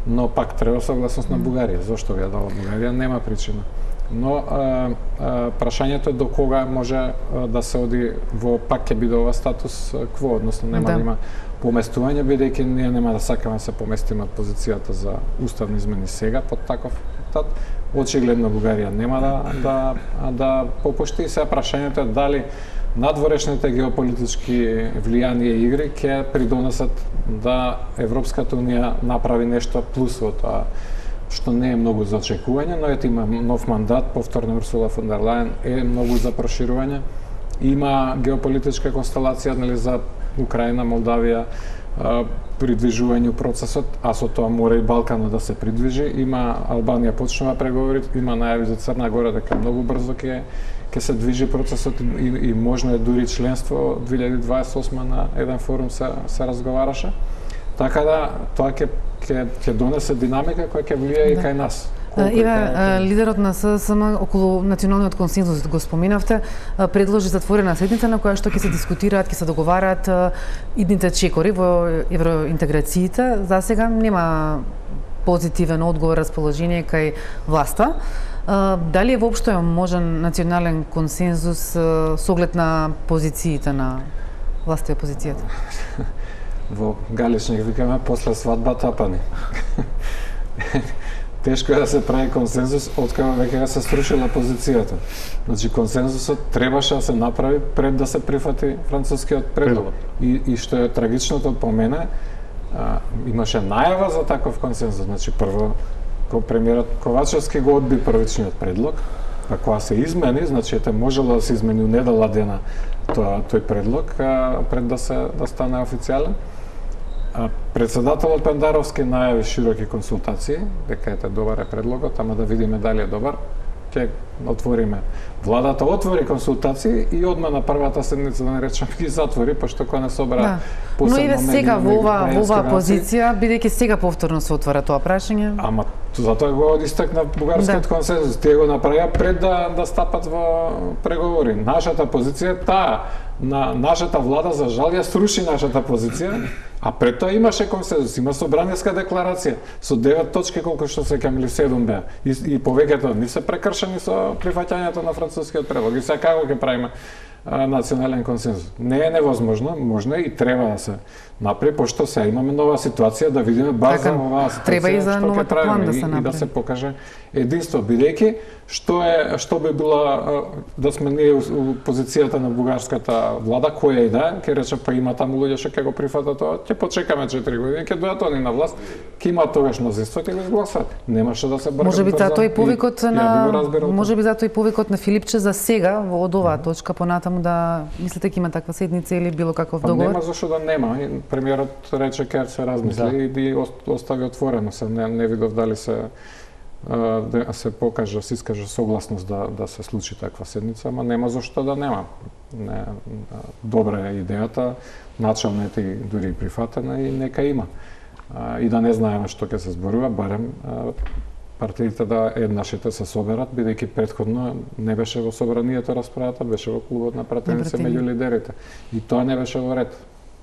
но пак треба согласност на Бугарија. Зошто ја дала Бугарија? Нема причина. Но прашањето е до кога може да се оди во пак ќе биде ова статус кво, односно нема да има поместување, бидејќи ние нема да сакаме да се поместиме од позицијата за уставни измени сега под таков тат. Очигледно Бугарија нема да попушти. Сега прашањето е дали надворешните геополитички влијанија и игри ќе придонесат да Европската унија направи нешто плюс во тоа, што не е многу за очекување, но ете има нов мандат, повторно Урсула фон дер Лајен е многу за проширување. Има геополитичка констелација, нели, за Украина, Молдавија, придвижување процесот, а со тоа мора и Балканот да се придвижи. Има Албанија почнува преговори, има најави за Црна Гора дека многу брзо ќе се движи процесот и можно е дури членство. 2028 на еден форум се разговараше. Така да тоа ќе донесе динамика која ќе влијае и кај нас. Иве, лидерот на ССМ околу националниот консензус, го споменавте, предложи затворена седница на која што ќе се дискутираат, ќе се договараат идните чекори во евроинтеграциите. За сега нема позитивен одговор, расположение кај власта. Дали е воопшто можен национален консензус со оглед на позициите на власта и опозицијата? Во Галичник викаме после свадбата апани. Тешко е да се прави консензус откако веќе се срушила позицијата. Значи консензусот требаше да се направи пред да се прифати францускиот предлог. И што е трагичното по мене, имаше најава за таков консензус. Значи прво премиерот Ковачевски го одби првичниот предлог, а кога се измени, значи можело да се измени недела дена тој предлог пред да стане официјален. Председателот Пендаровски најави широки консултации, дека добар е предлогот, ама да видиме дали е добар. Ќе отвориме. Владата отвори консултации и одма на првата седница, да не речам, ги затвори, пошто кога не собра посебно. Но и сега во оваа позиција, бидејќи сега повторно се отвара тоа прашање. Ама затоа го истакна бугарскиот консензус. Тие го направија пред да стапат во преговори. Нашата позиција е таа. Нашата влада, за жал, ја сруши нашата позиција, а пред тоа имаше консензус, има собраниска декларација со 9 точки, колку што се камили 7 беа. И повеќето не се прекршени со прифаќањето на францускиот предлог. И сега како ќе правиме национален консензус? Не е невозможно, можно и треба да се направи, пошто сега имаме нова ситуација, да видиме баш за оваа ситуација, треба и за новата план да се направи. И да се покаже единство, бидејќи што би била да сме ние у позицијата на бугарската влада, која и да, ќе рече па има таму луѓе што ќе го прифатат тоа, ќе почекаме 4 години, ќе дојдат они на власт, ќе имаат тогаш мнозинство и ќе го изгласат. Немаше да се бркат. Можеби затоа и повикот на Филипче за сега од оваа точка понатаму натаму да мислите дека има таква седница или било каков Па договор? нема зашто да нема. Премиерот рече ќе се размисли и ги остави отворено. Се не видов дали се се покаже, се искаже согласност да се случи таква седница, ама нема зашто да нема. Добра е идејата, начална е и дури прифатена и нека има. И да не знаеме што ќе се зборува, барем партиите да еднашите се соберат, бидејќи претходно не беше во собранието расправата, беше во клубот на пратеници меѓу лидерите. И тоа не беше во ред,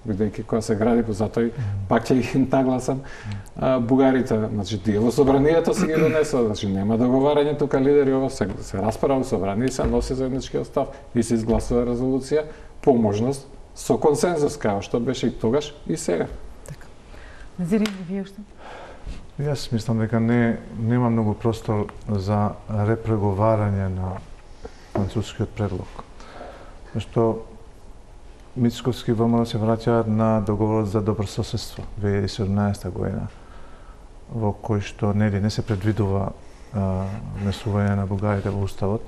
бидејќи кога се гради, затоа пак ќе ги нагласам бугарите, значи тие во собранието се ги донесува, значи нема договарање тука лидери, ова се расправа во собрание и се носи заедничкиот став и се изгласува резолуција по можност со консензус, како што беше и тогаш и сега. Така. Назири, вие што? Јас мислам дека нема многу простор за репреговарање на францускиот предлог. Зашто Мицковски ВМРО се враќаат на договорот за добрососедство 2017 година, во кој што не се предвидува внесување на бугарите во уставот,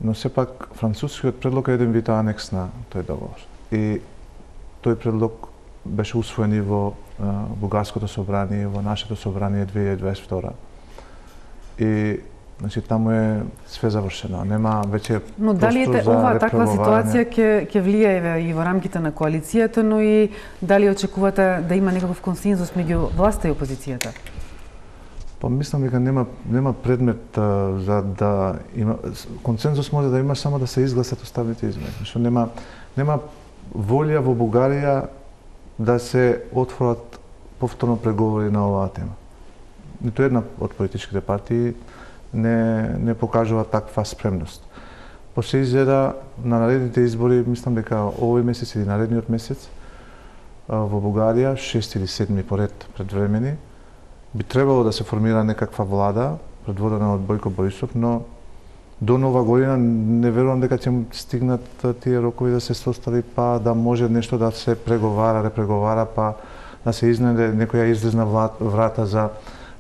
но сепак францускиот предлог е еден вид анекс на тој договор. И тој предлог беше усвоен и во бугарското собрание, во нашето собрание 2022. И значи таму е све завршено, нема веќе простор за. Но дали ова таква ситуација ќе влијае и во рамките на коалицијата, но и дали очекувате да има некаков консензус меѓу власта и опозицијата? Па мислам дека нема предмет за да има консензус, може да има само да се изгласат уставните измени, што нема волја во Бугарија да се отворат повторно преговори на оваа тема. Ниту една од политичките партии не покажува таква спремност. По се изгледа на наредните избори, мислам дека овој месец или наредниот месец во Бугарија, 6 или 7 поред предвремени, би требало да се формира некаква влада предводена од Бојко Борисов, но до нова година не верувам дека ќе стигнат тие рокови да се состави, па да може нешто да се преговара, репреговара, па да се изнајде некоја излезна врата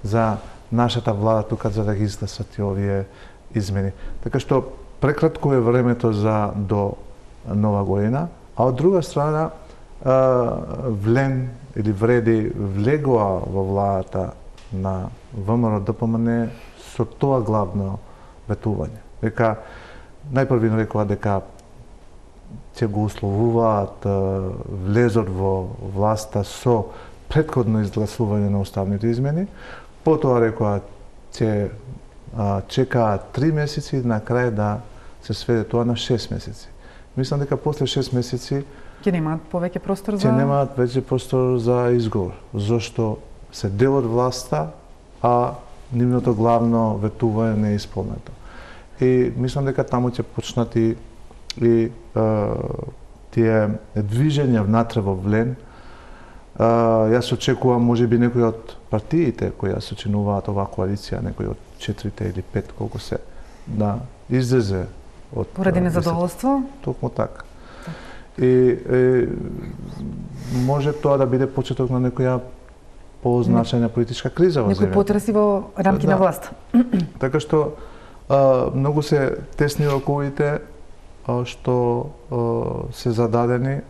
за нашата влада тука за да ги изгласат и овие измени. Така што прекратко е времето за до нова година, а од друга страна Влен или Вреди влегоа во владата на ВМРО-ДПМН со тоа главно ветување. Дека најпрви рекоа дека ќе го условуваат влезот во власта со претходно изгласување на уставните измени, потоа рекоа ќе чекаат 3 месеци и на крај да се сведе тоа на 6 месеци. Мислам дека после 6 месеци ќе немаат повеќе простор за немаат веќе простор за изговор, зашто се дел од власта, а нивното главно ветување не е исполнето. И мислам дека таму ќе почнат и тие движења внатре во Влен. Јас очекувам можеби некои од партиите кои ја сочинуваат оваа коалиција, некои од 4 или 5 колку се, да излезе од поради незадоволство. Токму така. И може тоа да биде почеток на некоја позначајна политичка криза во земјата. Некои потреси во рамки на власта. Така што многу се тесни роковите што се зададени,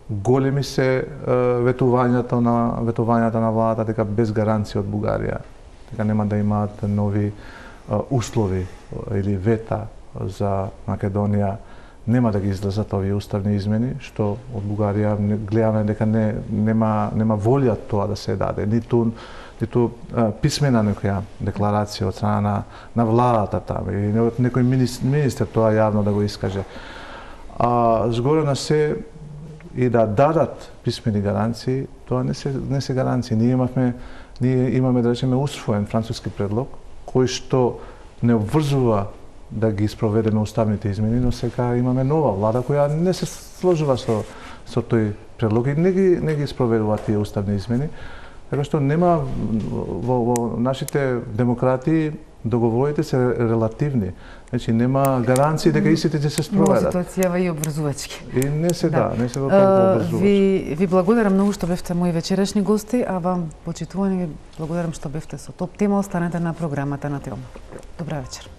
големи се ветувањата на владата, дека без гаранција од Бугарија, дека нема да имаат нови услови или вета за Македонија, нема да ги излезат овие уставни измени, што од Бугарија гледаме дека нема волја тоа да се даде, ниту писмена некоја декларација од страна на владата таму или од некој министер тоа јавно да го искаже. Згоре на се и да дадат писмени гаранции, тоа не се гаранции. Ние имаме да речеме усвоен француски предлог кој што не обврзува да ги спроведеме уставните измени, но сега имаме нова влада која не се сложува со тој предлог и не ги спроведува тие уставни измени. Така што нема во нашите демократии договорите се релативни. Значи нема гаранции дека истите ќе се спроведат. Но ситуацијава и обврзувачки. И не се не се толку обврзувачки. Ви благодарам многу што бевте мои вечерашни гости, а вам почитувани ви благодарам што бевте со Топ тема. Останете на програмата на Телма. Добра вечер.